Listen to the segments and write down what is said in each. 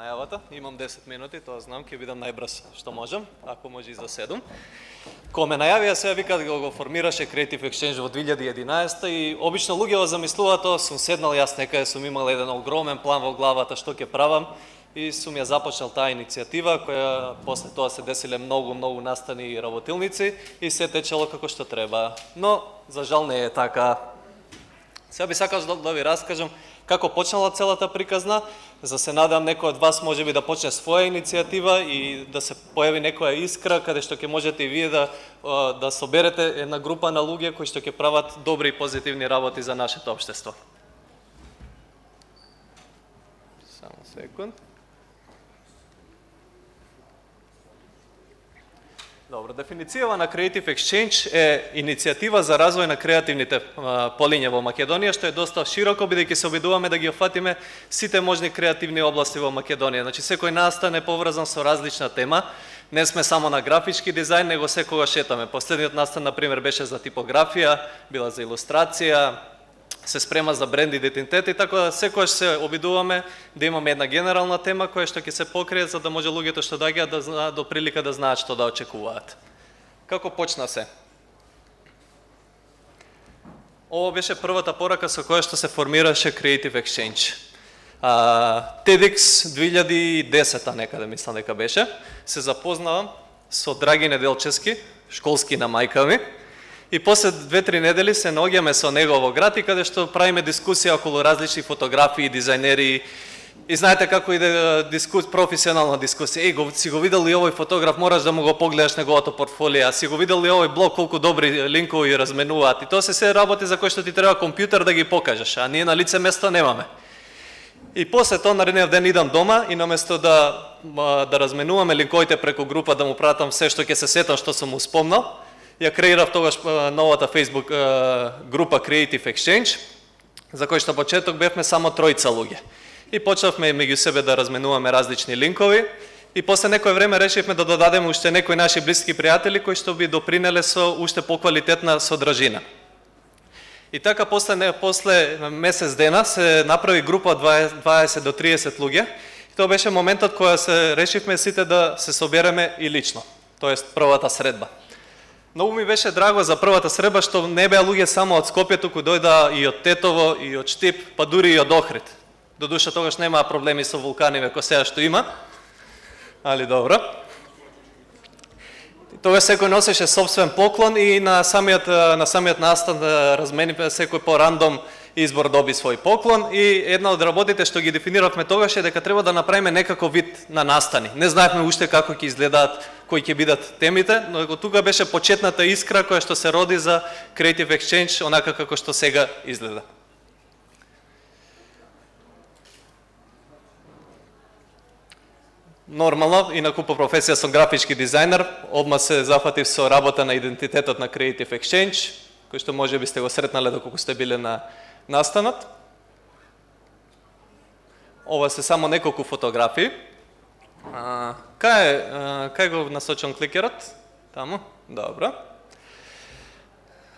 најавата. Имам 10 минути, тоа знам, ќе бидам најбрз што можам, ако може и за 7. Кога ме најавија, сега вика да го формираше Creative Exchange во 2011 и обично луѓето замислуваат тоа, сум седнал јас некаде, сум имал еден огромен план во главата што ќе правам и сум ја започнал таа иницијатива која после тоа се десиле многу настани и работилници и се течело како што треба. Но за жал не е така. Сега би сакал да ви раскажам како почнала целата приказна, за се надам некој од вас можеби да почне своја иницијатива и да се појави некоја искра каде што ќе можете и вие да соберете една група на луѓе кои што ќе прават добри и позитивни работи за нашето општество. Само секунд. Добро, дефиницијава на Creative Exchange е иницијатива за развој на креативните полиња во Македонија, што е доста широко, бидејќи се обидуваме да ги офатиме сите можни креативни области во Македонија. Значи, секој настан е поврзан со различна тема. Не сме само на графички дизајн, него секогаш шетаме. Последниот настан, например, беше за типографија, била за илустрација, се спрема за бренд идентитет и така да секогаш се обидуваме да имаме една генерална тема која што ќе се покрие за да може луѓето што доаѓаат да знаат до прилика да знаат што да очекуваат. Како почна се? Ова беше првата порака со која што се формираше Creative Exchange. TEDx 2010 некаде мислам дека беше, се запознавам со Драги Неделчевски, школски на мајка ми. И после 2-3 недели се наоѓаме со него во град и каде што правиме дискусија околу различни фотографии, дизајнери. И знаете како иде професионална дискусија. Си го видел ли овој фотограф, мораш да му го погледаш неговото портфолио. Си го видел ли овој блог, колку добри линкови разменуваат. И тоа се работи за кои што ти треба компјутер да ги покажеш, а ние на лице место немаме. И после тоа наредниот ден идам дома и наместо да разменуваме линковите преку група, да му пратам се што ќе се сетам што сум му спомнал, ја креирав тогаш новата Facebook група Creative Exchange, за кој што почеток бевме само 3 луѓе. И почнавме меѓу себе да разменуваме различни линкови и после некој време решивме да додадеме уште некои наши блиски пријатели кои што би допринеле со уште поквалитетна содржина. И така после месец дена се направи група од 20 до 30 луѓе. И тоа беше моментот кога се решивме сите да се собереме и лично, тоест првата средба. Многу ми беше драго за првата средба што не беа луѓе само од Скопје, туку дојда и од Тетово, и од Штип, па дури и од Охрид. Додуша тогаш немаа проблеми со вулкани како сега што има, али добро. Тогаш секој носеше собствен поклон и на самиот настан размени секој по рандом избор доби свој поклон и една од работите што ги дефиниравме тогаш е дека треба да направиме некаков вид на настани. Не знаевме уште како ќе изгледаат, кои ќе бидат темите, но тука беше почетната искра која што се роди за Creative Exchange онака како што сега изгледа. Нормално, инаку по професија сум графички дизајнер, одма се зафатив со работа на идентитетот на Creative Exchange, кој што може би сте го сретнале доколку сте биле на настанот. Ова се само неколку фотографии. Кај го насочам кликерот? Таму? Добро.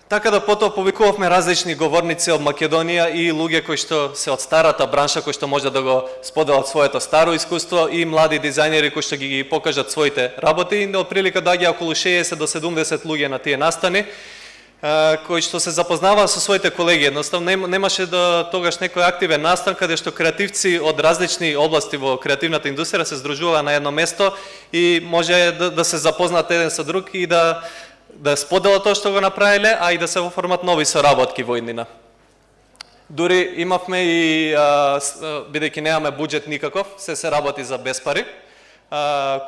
Така да потоа повикувавме различни говорници од Македонија и луѓе кои што се од старата бранша, кои што може да го споделат своето старо искуство и млади дизајнери кои што ги покажат своите работи. И отприлика доаѓа околу 60 до 70 луѓе на тие настани, кои што се запознаваа со своите колеги. Едноставно немаше тогаш некој активен настан каде што креативци од различни области во креативната индустрија се здружуваа на едно место и може да се запознаат еден со друг и да споделат тоа што го направиле, а и да се оформат нови соработки во иднина. Дури имавме и, бидејќи немаме буџет никаков, се работи за без пари.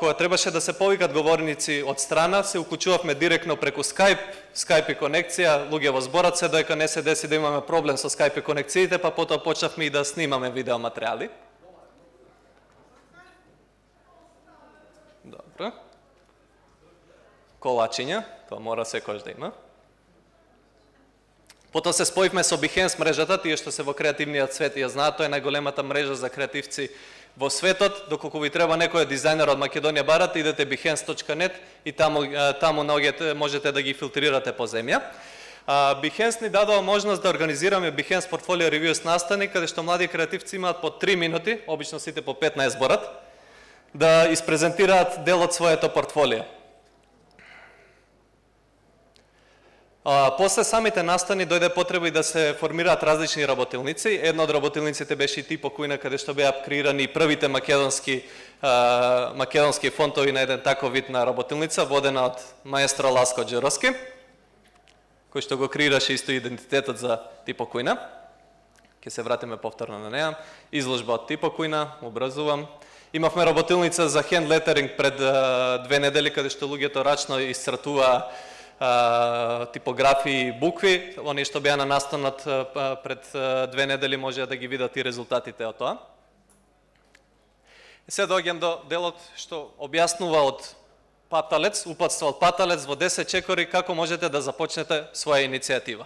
Кога требаше да се повикат говорници од страна, се уклучувавме директно преку Skype и конекција, луѓе во зборот се доека не се деси да имаме проблем со Skype и конекциите, па потоа почнавме и да снимаме видеоматеријали. Добро. Колачиња, тоа мора секојаш да има. Потоа се споивме со Behance мрежата, тие што се во креативниот свет ја знаат, тоа е најголемата мрежа за креативци во светот. Доколку ви треба некој дизајнер од Македонија барате, идете behance.net и таму можете да ги филтрирате по земја. Behance ни дадоа можност да организираме Behance Portfolio Reviews настани, каде што млади креативци имаат по 3 минути, обично сите по 15 зборат, да испрезентираат дел од своето портфолио. После самите настани дојде потреба и да се формираат различни работилници. Една од работилниците беше и Типо Кујна, каде што беа креирани првите македонски фонтови на еден таков вид на работилница, водена од маестро Ласко Джеровски, кој што го креираше исто идентитетот за Типо Кујна. Ке се вратиме повторно на неа. Изложба од Типо Кујна, образувам. Имавме работилница за хенд летеринг пред 2 недели, каде што луѓето рачно исцртуваа типографии и букви. Они што беа на настанот пред 2 недели може да ги видат и резултатите од тоа. И се доаѓам до делот што објаснува од паталец, упатство од паталец во 10 чекори како можете да започнете своја иницијатива.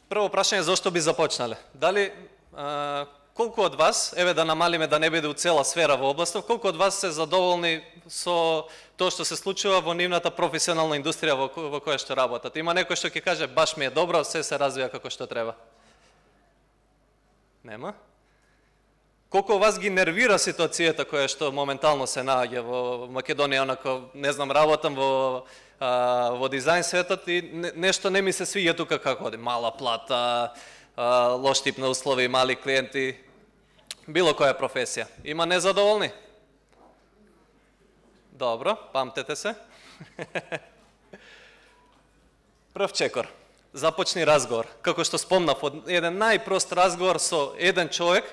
Прво прашање, зошто би започнале? Дали колку од вас, еве да намалиме да не биде у цела сфера во областов, колку од вас се задоволни со тоа што се случува во нивната професионална индустрија во која што работат? Има некој што ќе каже баш ми е добро, се развија како што треба? Нема? Колку вас ги нервира ситуацијата која што моментално се наоѓа во Македонија, онако, не знам, работам во дизајн светот и нешто не ми се свиѓа тука како оди. Мала плата, лош тип на услови, мали клиенти, било која професија. Има незадоволни? Добро, памтете се. Прв чекор. Започни разговор. Како што спомнав, од еден најпрост разговор со еден човек,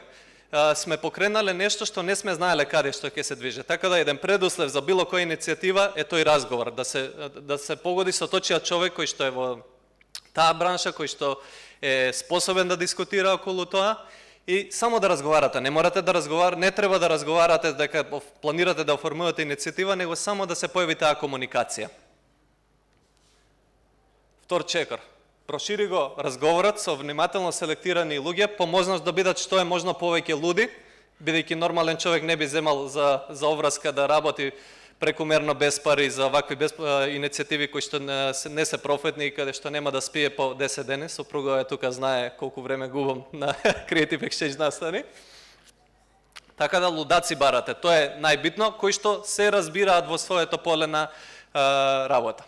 сме покренале нешто што не сме знаеле каде што ќе се движи. Така да еден предуслов за било која иницијатива е тој разговор, да се погоди со точниот човек кој што е во таа бранша, кој што е способен да дискутира околу тоа и само да разговарате. Не морате да разговарате, не треба да разговарате дека планирате да оформувате иницијатива, него само да се појави таа комуникација. Втор чекор. Прошири го разговорот со внимателно селектирани луѓе, по можност да бидат што е можно повеќе луди, бидејќи нормален човек не би земал за овраска да работи прекумерно без пари за вакви иницијативи кои што не се профитни и каде што нема да спие по 10 дени. Сопруга е тука, знае колку време губам на Creative Exchange настани. Така да лудаци барате, тоа е најбитно, кои што се разбираат во своето поле на работа.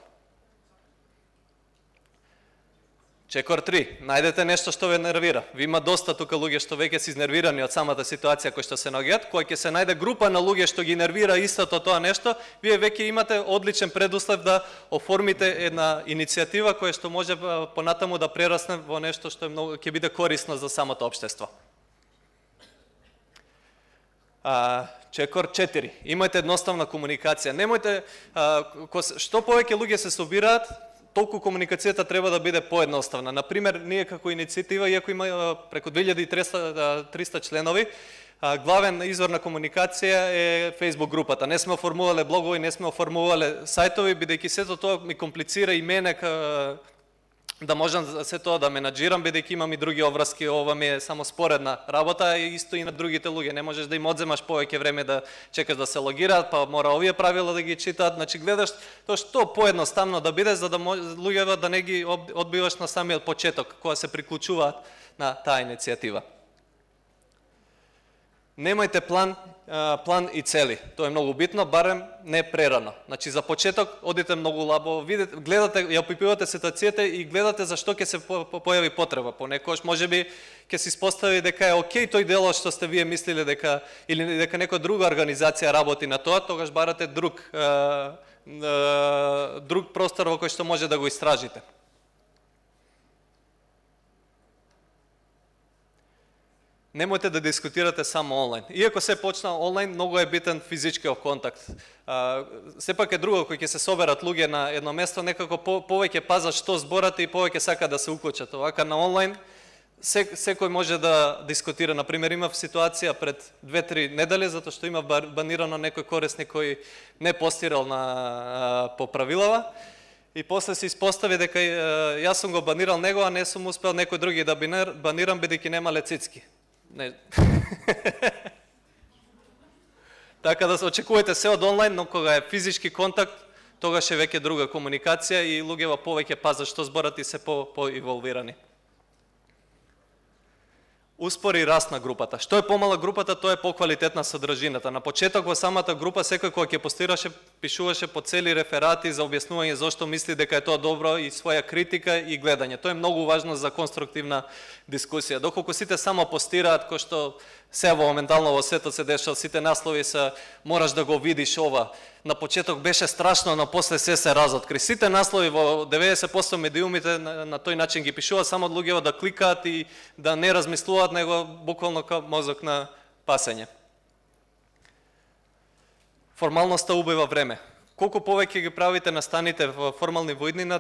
Чекор 3. Најдете нешто што ве нервира. Ви има доста тука луѓе што веќе се изнервирани од самата ситуација која што се наоѓаат. Кога ќе се најде група на луѓе што ги нервира истото тоа нешто, вие веќе имате одличен предуслов да оформите една иницијатива која што може понатаму да прерасне во нешто што е многу ќе биде корисно за самото општество. Чекор 4. Имајте едноставна комуникација. Немојте што повеќе луѓе се собираат, толку комуникацијата треба да биде поедноставна. Например, ние како иницијатива, иако има преку 2300 членови, главен извор на комуникација е Facebook групата. Не сме оформувале блогови, не сме оформувале сајтови, бидејќи сето тоа ми комплицира и мене да можам се тоа да менаџирам, бидејќи имам и други обврски, ова ми е само споредна работа и исто и на другите луѓе. Не можеш да им одземаш повеќе време да чекаш да се логираат, па мора овие правила да ги читаат. Значи гледаш тоа што поедноставно да биде за да луѓето да не ги одбиваш на самиот почеток кога се приклучуваат на таа иницијатива. Немајте план и цели. Тоа е многу битно, барем не прерано. Значи за почеток одите многу лабо, видите, гледате, ја опипувате ситуацијата и гледате за што ќе се појави потреба. Понекогаш можеби ќе се испостави дека е окей тој делот што сте вие мислиле дека или дека некоја друга организација работи на тоа, тогаш барате друг простор во кој што може да го истражите. Немојте да дискутирате само онлайн. Иако се почна онлайн, многу е битен физичкиот контакт. Сепак е друго, кој ќе се соберат луѓе на едно место, некако повеќе пазат што зборат и повеќе сака да се уклучат. Овака на онлайн, секој може да дискутира. Например, имав ситуација пред 2-3 недели, затоа што имав банирано некој корисник кој не постирал по правилава. И после се испостави дека јас сум го банирал него, а не сум успел некој други да банирам, бидејќи немале цицки. Не. Така да се очекувате се од онлайн, но кога е физички контакт, тогаш е веќе друга комуникација и луѓето повеќе пазат што зборат и се по-инволвирани. успори раст на групата. Што е помала групата, тоа е поквалитетна содржината. На почеток во самата група секој кога ќе постираше, пишуваше по цели реферати за објаснување зошто мисли дека е тоа добро и своја критика и гледање. Тоа е многу важно за конструктивна дискусија. Доколку сите само постираат, кој што се моментално во светот се дешава, сите наслови се мораш да го видиш ова. На почеток беше страшно, но после се разоткри. Сите наслови во 90% медиумите на тој начин ги пишуваат само луѓето да кликаат и да не размислуваат, него буквално као мозок на пасење. Формалноста убива време. Колку повеќе ги правите настаните во формални во иднина,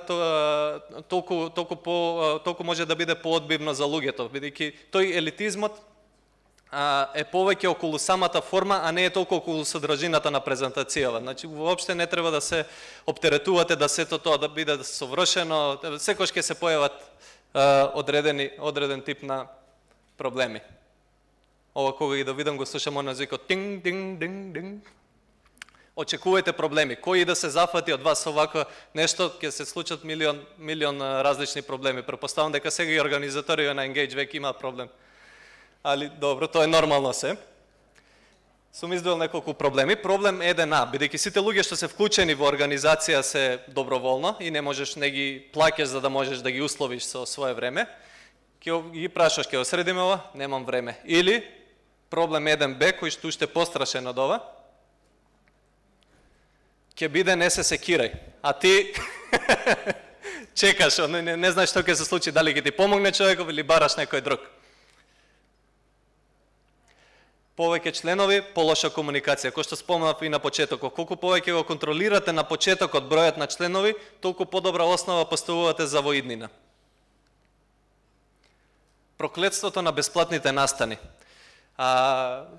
толку може да биде поодбивно за луѓето, бидејќи тој елитизмот е повеќе околу самата форма, а не е толку околу содржината на презентацијава. Значи, воопште не треба да се оптеретувате да сето тоа да биде совршено, секој ќе се појават одреден тип на проблеми. Ова кога ги да видам го слушам на звукот тинг динг динг динг. Очекувајте проблеми. Кој да се зафати од вас овако нешто, ќе се случат милион различни проблеми. Претпоставам дека сега и организатори на Engage веќе имаат проблем. Али добро, тоа е нормално се. Сум издвоил неколку проблеми. Проблем 1А, бидејќи сите луѓе што се вклучени во организација се доброволно и не можеш не ги плаќаш за да можеш да ги условиш со свое време, ќе ги прашаш ќе осредиме ова, немам време. Или проблем 1Б кој што уште пострашен од ова, ќе биде не се секирај, а ти чекаш, не знаеш што ќе се случи, дали ќе ти помогне човеков или бараш некој друг. Повеќе членови, полоша комуникација, кој што спомнав и на почетокот. Колку повеќе го контролирате на почетокот бројот на членови, толку подобра основа поставувате за во иднина. Проклетството на бесплатните настани.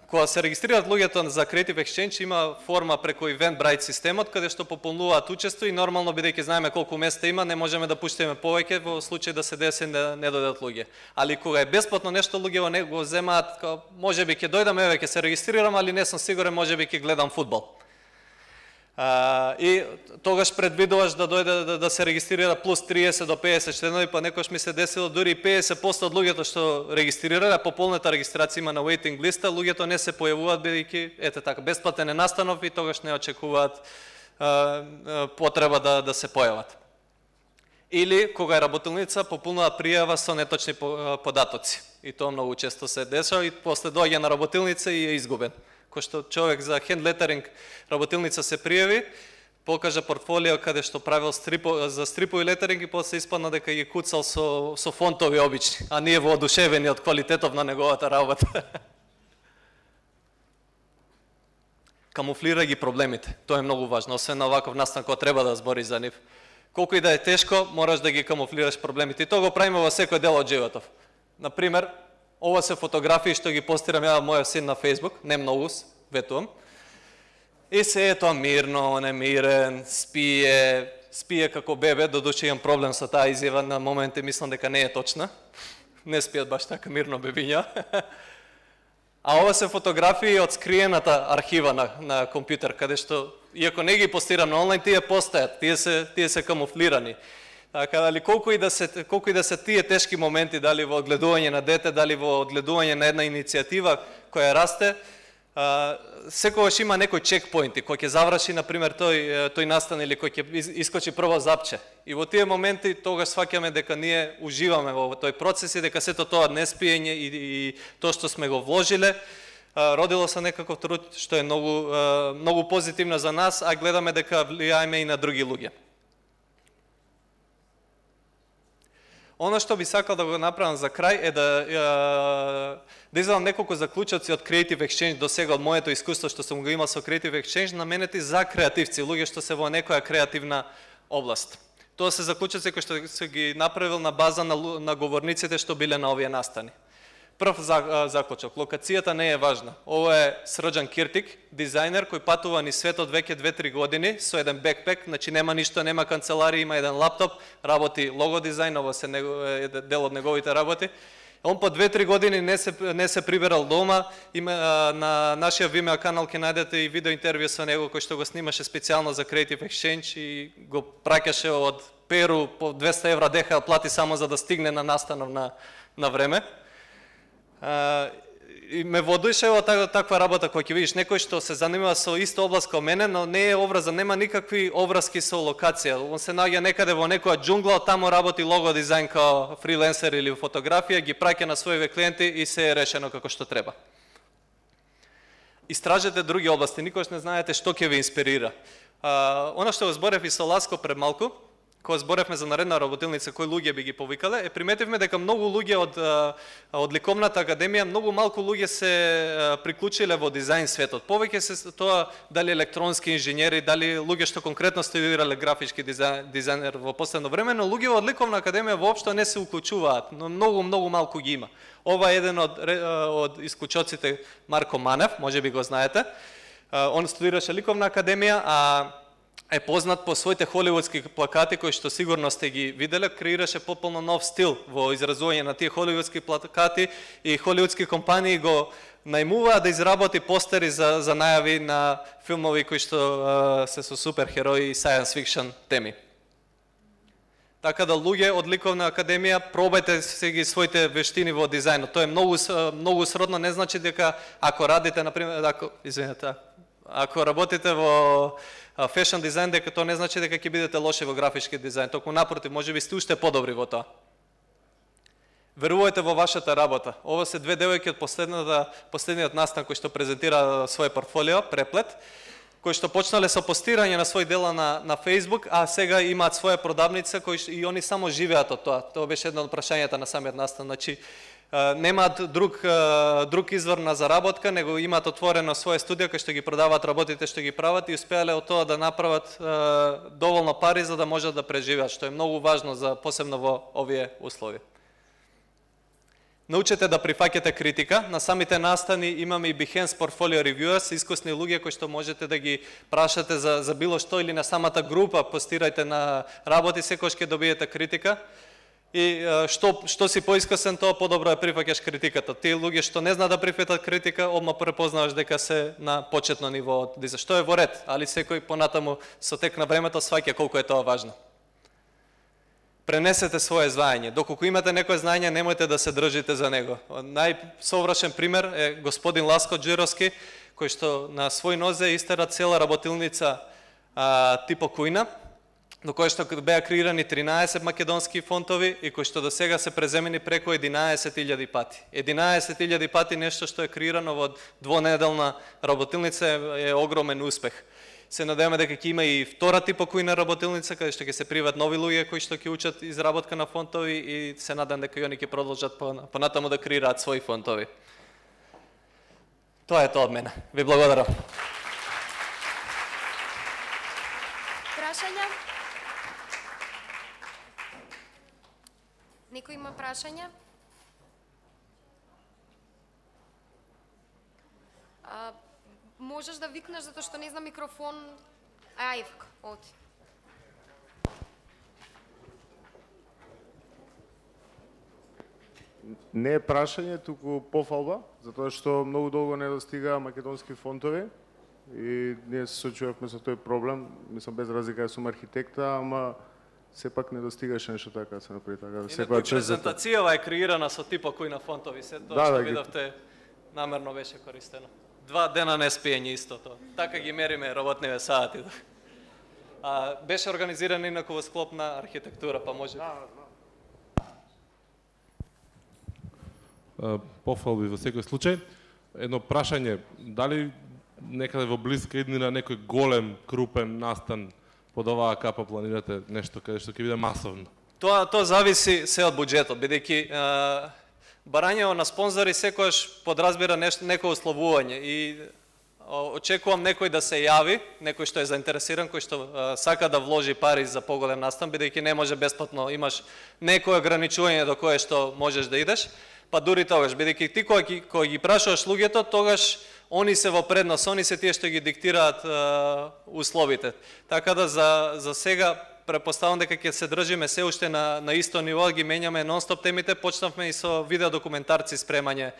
Кога се регистрираат луѓето за Creative Exchange, има форма преку Eventbrite системот, каде што пополнуваат учество и нормално, бидејќи знаеме колку места има, не можеме да пуштиме повеќе во случај да се деси не дојдат луѓе. Али кога е бесплатно нешто, луѓето не го земаат, можеби ќе дојдам, еве ќе се регистрирам, али не сум сигурен, можеби ќе гледам фудбал. И тогаш предвидуваш да дојде да се регистрира плюс 30 до 50 членови, па некош ми се десило дури 50% од луѓето што регистрирале, пополнета регистрација има на waiting листа, луѓето не се појавуваат бидејќи ете така бесплатен е настанов и тогаш не очекуваат потреба да се појават. Или кога работилница пополнува пријава со неточни податоци. И тоа многу често се дешава и после доаѓа на работилница и е изгубен. Кој што човек за hand lettering работилница се пријави, покажа портфолио каде што правил за стрипови летеринг и после испадна дека ги куцал со фонтови обични, а ние воодушевени од квалитетов на неговата работа. Камуфлира ги проблемите. Тоа е многу важно, освен на оваков настан кога треба да збори за нив. Колку и да е тешко, мораш да ги камуфлираш проблемите. И тоа го правиме во секој дел од животов. Например, ова се фотографии што ги постирам ја мојот син на Facebook, не многу, ветувам. И се е тоа мирно, немирен, спие како бебе, додуше имам проблем со таа изјава, на моменти мислам дека не е точна. Не спијат баш така мирно бебиња. А ова се фотографии од скриената архива на компјутер, каде што, иако не ги постирам на онлайн, тие постојат, тие се камуфлирани. Така, дали колку и да се тие тешки моменти, дали во одгледување на дете, дали во одгледување на една иницијатива која расте, секогаш има некој чекпоинти, кој ќе заврши, например, тој настан или кој ќе искочи прво запче. И во тие моменти тогаш сваќаме дека ние уживаме во тој процес и дека сето тоа неспиење и тоа што сме го вложиле, родило се некаков труд што е многу позитивно за нас, а гледаме дека влијаеме и на други луѓе. Оно што би сакал да го направам за крај е да извадам неколку заклучоци од Creative Exchange до сега, од моето искуство што сум го имал со Creative Exchange, наменети за креативци, луѓе што се во некоја креативна област. Тоа се заклучоци кои што се ги направил на база на говорниците што биле на овие настани. Прв заклучок, локацијата не е важна. Ова е Срđan Киртик, дизајнер кој патува ни светот веќе 2-3 години со еден бекпек, значи нема ништо, нема канцеларија, има еден лаптоп, работи лого дизајн, ова се дел од неговите работи. Он по 2-3 години не се прибирал дома, на нашиот Vimeo канал ќе најдете и видео интервју со него кој што го снимаше специјално за Creative Exchange и го праќаше од Перу по 200 евра деха плати само за да стигне на настанов на време. И ме водуше таква работа која ќе видиш некој што се занимава со иста област како мене, но не е образан, нема никакви обврски со локација. Он се наоѓа некаде во некоја џунгла, таму работи лого дизајн као фриленсер или фотографија, ги праќа на своите клиенти и се е решено како што треба. Истражете други области, никош не знаете што ќе ви инспирира. Она што го зборев и со Ласко пред малку, кога зборевме за наредна работилница, кои луѓе би ги повикале, приметивме дека многу луѓе од ликовната академија, многу малку луѓе се приклучиле во дизајн светот. Повеќе се тоа дали електронски инженери, дали луѓе што конкретно студирале графички дизајнер во последно време, но луѓе од ликовна академија воопшто не се уклучуваат, но многу малку ги има. Ова е еден од исклучоците, Марко Манев, може би го знаете. Он студираше ликовна академија, а е познат по своите холивудски плакати кои што сигурно сте ги виделе, креираше потполно нов стил во изразување на тие холивудски плакати и холивудски компании го најмуваат да изработи постери за најави на филмови кои што се со суперхерои и science fiction теми. Така да луѓе од ликовна академија, пробајте се ги своите вештини во дизајнот. Тоа е многу сродно, не значи дека ако радите на пример, ако работите во фешн дизајн, дека тоа не значи дека ќе бидете лоши во графички дизајн, токму напротив, можеби сте уште подобри во тоа. Верувајте во вашата работа. Ова се две девојки од последниот настан кој што презентира своје портфолио, Преплет, кои што почнале со постирање на свој дела на Facebook, а сега имаат своја продавница и они само живеат од тоа. Тоа беше едно од прашањата на самиот настан. Значи, немаат друг извор на заработка, него имаат отворено своја студија кај што ги продаваат работите што ги прават и успеале од тоа да направат доволно пари за да можат да преживеат, што е многу важно за посебно во овие услови. Научете да прифаќате критика. На самите настани имаме и Behance Portfolio Reviewers, искусни луѓе кои што можете да ги прашате за било што или на самата група, постирајте на работи, секогаш ќе добиете критика. И што си поискусен, тоа подобро да прифаќаш критиката. Тие луѓе што не знаат да прифатат критика, одма препознаваш дека се на почетно ниво од дизајн, што е во ред, али секој понатаму со тек на времето сваќа колку е тоа важно. Пренесете своje знаење. Доколку имате некое знаење, немојте да се држите за него. Најсовршен пример е господин Ласко Джировски, кој што на свој нозе истера цела работилница типо Кујна, до кој што беа креирани 13 македонски фонтови и кои што до сега се преземени преку 11.000 пати. 11.000 пати нешто што е креирано во двонеделна работилница е огромен успех. Се надеваме дека ќе има и втора типа Кујна работилница, каде што ќе се приват нови луѓе кои што ќе учат изработка на фонтови и се надам дека и они ќе продолжат понатаму да креираат своји фонтови. Тоа е тоа од мене. Ви благодарам. Прашања? Некој има прашања? Можеш да викнеш затоа што не знам микрофон. Ајвк, оди. Не е прашање, туку пофалба, затоа што многу долго не достига македонски фонтови и ние се соочувавме со тој проблем. Мислам, без разлика ја сум архитекта, ама сепак не достигаше нешто така се направи така. Секоја презентацијава е креирана со типа Кујна фонтови, се тоа што видовте намерно беше користено. 2 дена не спиење исто тоа. Така ги мериме работниве сати. Беше организиран инаку во склоп на архитектура, па може. Пофалби во секој случај. Едно прашање, дали некаде во блиска иднина некој голем, крупен настан под оваа капа планирате нешто каде што ќе биде масовно? Тоа зависи се од буџетот, бидејќи барањето на спонзори секогаш подразбира некое условување и очекувам некој да се јави, некој што е заинтересиран, кој што сака да вложи пари за поголем настан, бидејќи не може бесплатно, имаш некое ограничување до кое што можеш да идеш, па дури тогаш, бидејќи ти кој ги прашуваш луѓето, тогаш они се во предност, они се тие што ги диктираат условите. Така да за сега препоставам дека ќе се држиме се уште на исто ниво, ги менјаме нон-стоп темите, почнавме и со видеодокументарци спремање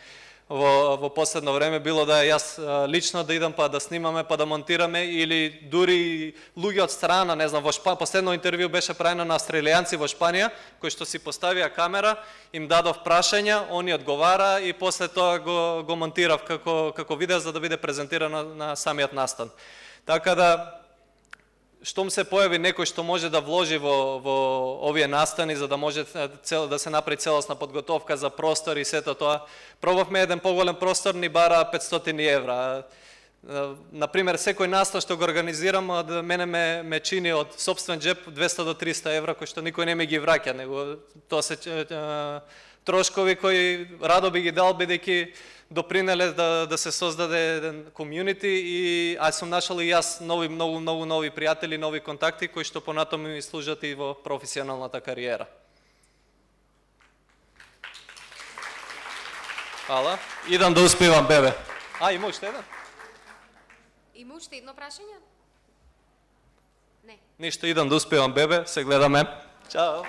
во последно време, било да јас лично да идам па да снимаме, па да монтираме, или дури луѓе од страна, не знам, последно интервју беше правено на австралијанци во Шпанија, кои што си поставија камера, им дадов прашања, они одговара и после тоа го монтирав како видео за да биде презентирано на самиот настан. Така да, штом се појави некој што може да вложи во овие настани за да може да се направи целосна подготовка за простор и сето тоа, пробавме еден поголем простор, ни бара 500 евра. Например, секој настан што го организирам, мене ме чини од сопствен джеп 200 до 300 евра, кои што никој не ми ги враќа, него тоа се трошкови кои радо би ги дал, бидејќи допринеле да се создаде еден комјунити, и аз сум нашол и јас многу нови пријатели, нови контакти кои што понатаму ми служат и во професионалната кариера. Хвала. Идам да успевам, бебе. Има уште еден? Има уште едно прашање? Не. Ништо, идам да успевам, бебе, се гледаме. Чао.